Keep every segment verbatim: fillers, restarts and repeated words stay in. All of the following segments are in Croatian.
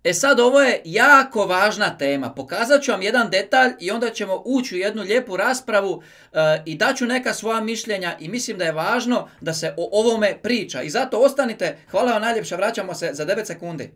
E sad, ovo je jako važna tema. Pokazat ću vam jedan detalj i onda ćemo ući u jednu lijepu raspravu uh, i daću neka svoja mišljenja i mislim da je važno da se o ovome priča. I zato ostanite, hvala vam najljepša, vraćamo se za devet sekundi.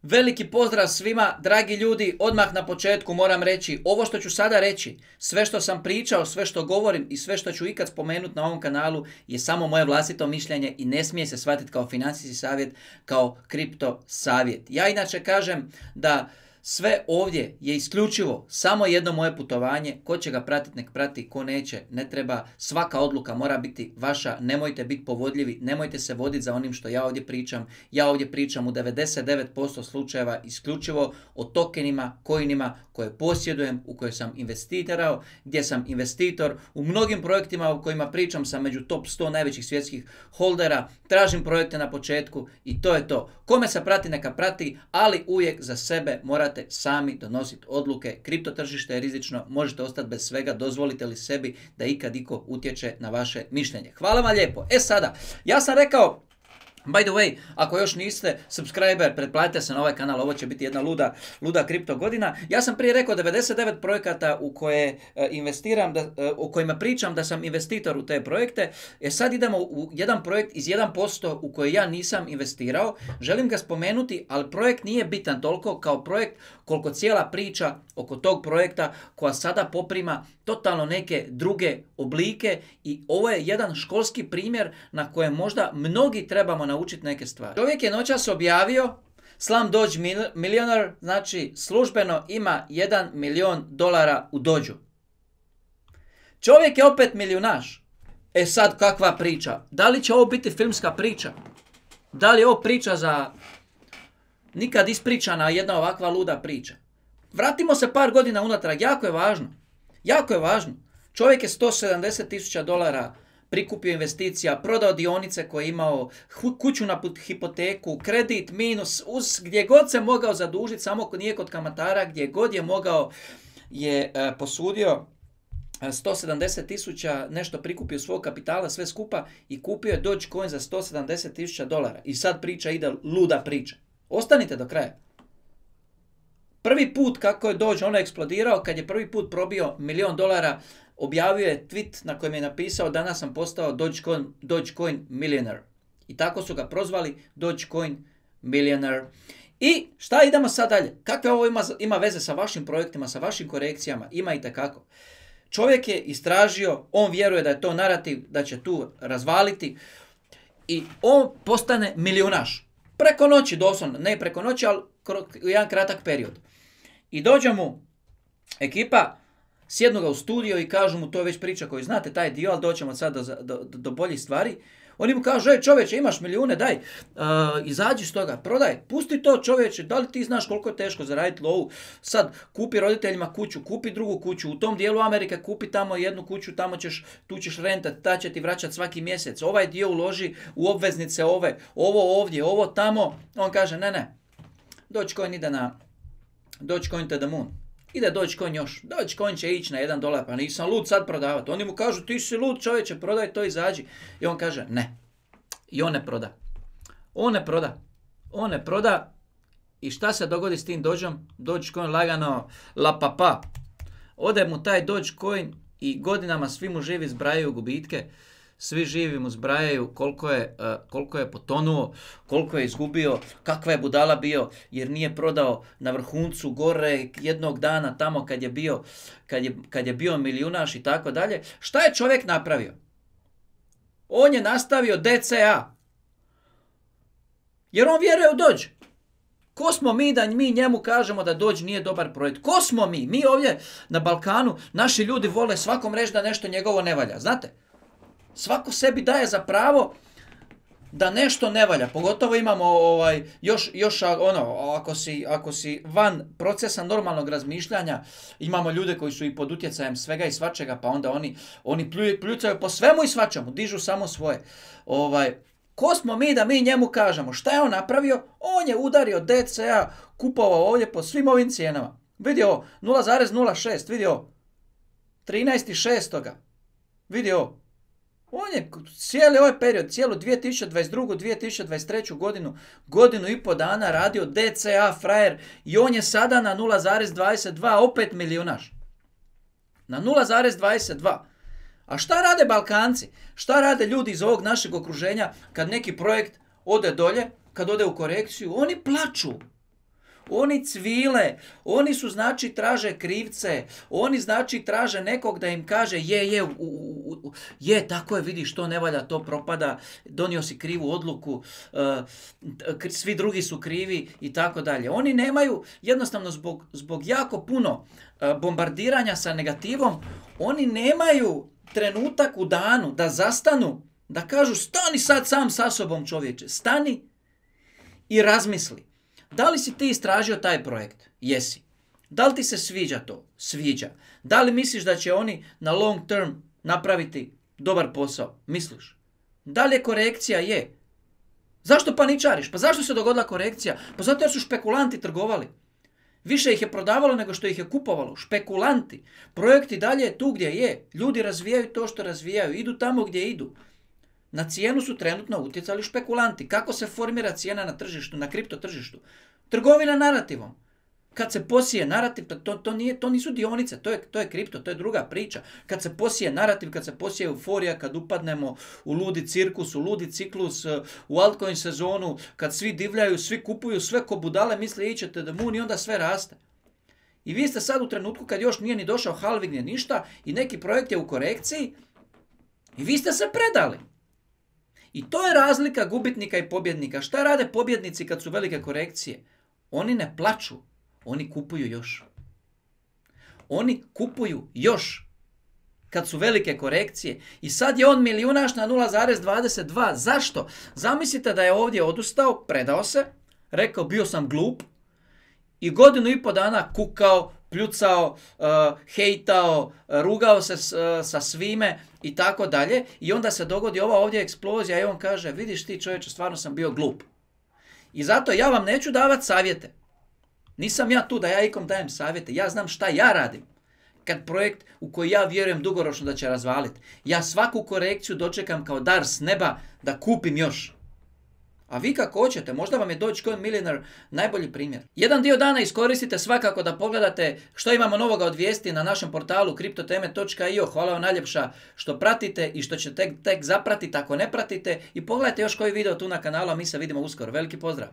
Veliki pozdrav svima, dragi ljudi, odmah na početku moram reći, ovo što ću sada reći, sve što sam pričao, sve što govorim i sve što ću ikad spomenuti na ovom kanalu je samo moje vlastito mišljenje i ne smije se shvatiti kao financijski savjet, kao kripto savjet. Ja inače kažem da sve ovdje je isključivo samo jedno moje putovanje, ko će ga pratiti nek prati, ko neće ne treba, svaka odluka mora biti vaša, nemojte biti povodljivi, nemojte se voditi za onim što ja ovdje pričam. Ja ovdje pričam u devedeset devet posto slučajeva isključivo o tokenima, coinima koje posjedujem, u koje sam investirao, gdje sam investitor, u mnogim projektima o kojima pričam sam među top sto najvećih svjetskih holdera, tražim projekte na početku i to je to. Kome se prati neka prati, ali uvijek za sebe morate sami donositi odluke. Kripto tržište je rizično, možete ostati bez svega, dozvolite li sebi da ikad iko utječe na vaše mišljenje. Hvala vam lijepo. E sada, ja sam rekao, by the way, ako još niste subscriber, pretplatite se na ovaj kanal, ovo će biti jedna luda, luda kripto godina. Ja sam prije rekao devedeset devet projekata u koje e, investiram, da, e, o kojima pričam da sam investitor u te projekte. E sad idemo u jedan projekt iz jedan posto u koji ja nisam investirao. Želim ga spomenuti, ali projekt nije bitan toliko kao projekt koliko cijela priča oko tog projekta koja sada poprima totalno neke druge oblike i ovo je jedan školski primjer na kojem možda mnogi trebamo naučiti neke stvari. Čovjek je noćas objavio Slumdog Millionaire, znači službeno ima jedan milion dolara u dođu. Čovjek je opet milijunaš. E sad kakva priča? Da li će ovo biti filmska priča? Da li je ovo priča za nikad ispričana jedna ovakva luda priča? Vratimo se par godina unatrag, jako je važno. Jako je važno. Čovjek je sto sedamdeset tisuća dolara prikupio investicija, prodao dionice koje je imao, kuću na hipoteku, kredit, minus, uz gdje god se mogao zadužiti, samo nije kod kamatara, gdje god je mogao je e, posudio sto sedamdeset tisuća, nešto prikupio svog kapitala, sve skupa i kupio je Dogecoin za sto sedamdeset tisuća dolara. I sad priča ide luda priča. Ostanite do kraja. Prvi put kako je Doge ono eksplodirao, kad je prvi put probio milion dolara, objavio je tweet na kojem je napisao danas sam postao Dogecoin, Dogecoin Millionaire. I tako su ga prozvali Dogecoin Millionaire. I šta idemo sad dalje? Kakve ovo ima, ima veze sa vašim projektima, sa vašim korekcijama? Ima i tekako. Čovjek je istražio, on vjeruje da je to narativ, da će tu razvaliti i on postane milijunaš. Preko noći, doslovno, ne preko noći, ali u jedan kratak period. I dođe mu ekipa, sjednu ga u studio i kažu mu, to je već priča koju znate, taj dio, ali doćemo sad do, do, do boljih stvari. Oni mu kažu, ej čovječe, imaš milijune, daj, uh, izađi s toga, prodaj, pusti to čovječe, da li ti znaš koliko je teško zaraditi lovu, sad kupi roditeljima kuću, kupi drugu kuću, u tom dijelu Amerike kupi tamo jednu kuću, tamo ćeš, tu ćeš rentat, ta će ti vraćati svaki mjesec, ovaj dio uloži u obveznice ove, ovo ovdje, ovo tamo. On kaže, ne, ne, Dogecoin ide na, Dogecoin to the moon. Ide Dogecoin još. Dogecoin će ići na jedan dolar, pa nisam lud sad prodavati. Oni mu kažu, ti si lud čovječe, prodaj to, izađi. I on kaže, ne. I on ne proda. On ne proda. On ne proda. I šta se dogodi s tim Dogeom? Dogecoin lagano la papa. Ode mu taj Dogecoin i godinama svi mu živi zbrajaju gubitke. Svi živi mu zbrajaju koliko je, uh, koliko je potonuo, koliko je izgubio, kakva je budala bio jer nije prodao na vrhuncu gore jednog dana tamo kad je bio, kad je, kad je bio milijunaš i tako dalje. Šta je čovjek napravio? On je nastavio D C A. Jer on vjeruje u Doge. Ko smo mi da mi njemu kažemo da Doge nije dobar projekt? Ko smo mi? Mi ovdje na Balkanu, naši ljudi vole svakom reći da nešto njegovo ne valja. Znate? Svako sebi daje za pravo da nešto ne valja. Pogotovo imamo ovaj, još, još ono, ako si, ako si van procesa normalnog razmišljanja, imamo ljude koji su i pod utjecajem svega i svačega, pa onda oni, oni pljuju, pljucaju po svemu i svačemu, dižu samo svoje. Ovaj, ko smo mi da mi njemu kažemo šta je on napravio? On je udario D C A, kupovao ovdje po svim ovim cijenama. Vidio nula zarez nula šest, vidio trinaest šestog Vidi ovo. On je cijeli ovaj period, cijelu dvije tisuće dvadeset drugu. dvije tisuće dvadeset treću. godinu, godinu i po dana radio D C A frajer i on je sada na nula zarez dvadeset dva, opet milijunaš. Na nula zarez dvadeset dva. A šta rade Balkanci? Šta rade ljudi iz ovog našeg okruženja kad neki projekt ode dolje, kad ode u korekciju? Oni plaču. Oni cvile, oni su znači traže krivce, oni znači traže nekog da im kaže je, je, u, u, u, je, tako je, vidiš, to ne valja, to propada, donio si krivu odluku, uh, svi drugi su krivi i tako dalje. Oni nemaju, jednostavno zbog, zbog jako puno uh, bombardiranja sa negativom, oni nemaju trenutak u danu da zastanu, da kažu stani sad sam sa sobom čovječe, stani i razmisli. Da li si ti istražio taj projekt? Jesi. Da li ti se sviđa to? Sviđa. Da li misliš da će oni na long term napraviti dobar posao? Misliš. Da li je korekcija? Je. Zašto paničariš? Pa zašto se dogodila korekcija? Pa zato jer su špekulanti trgovali. Više ih je prodavalo nego što ih je kupovalo. Špekulanti. Projekti dalje je tu gdje je. Ljudi razvijaju to što razvijaju. Idu tamo gdje idu. Na cijenu su trenutno utjecali špekulanti. Kako se formira cijena na tržištu, na kripto tržištu? Trgovina narativom. Kad se posije narativ, to, to, nije, to nisu dionice, to je, to je kripto, to je druga priča. Kad se posije narativ, kad se posije euforija, kad upadnemo u ludi cirkus, u ludi ciklus, u altcoin sezonu, kad svi divljaju, svi kupuju, sve ko budale misle ićete da moon i onda sve raste. I vi ste sad u trenutku kad još nije ni došao halving, nije ništa i neki projekt je u korekciji i vi ste se predali. I to je razlika gubitnika i pobjednika. Šta rade pobjednici kad su velike korekcije? Oni ne plaču, oni kupuju još. Oni kupuju još kad su velike korekcije. I sad je on milijunaš na nula zarez dvadeset dva. Zašto? Zamislite da je ovdje odustao, predao se, rekao bio sam glup i godinu i po dana kukao, pljucao, uh, hejtao, uh, rugao se s, uh, sa svime i tako dalje. I onda se dogodi ova ovdje eksplozija i on kaže vidiš ti čovječe, stvarno sam bio glup. I zato ja vam neću davati savjete. Nisam ja tu da ja ikom dajem savjete. Ja znam šta ja radim. Kad projekt u koji ja vjerujem dugoročno da će razvaliti. Ja svaku korekciju dočekam kao dar s neba da kupim još. A vi kako hoćete, možda vam je Dogecoin Millionaire najbolji primjer. Jedan dio dana iskoristite svakako da pogledate što imamo novoga od vijesti na našem portalu kriptoteme točka i o. Hvala vam najljepša što pratite i što ćete tek, tek zapratiti ako ne pratite. I pogledajte još koji video tu na kanalu, a mi se vidimo uskoro. Veliki pozdrav!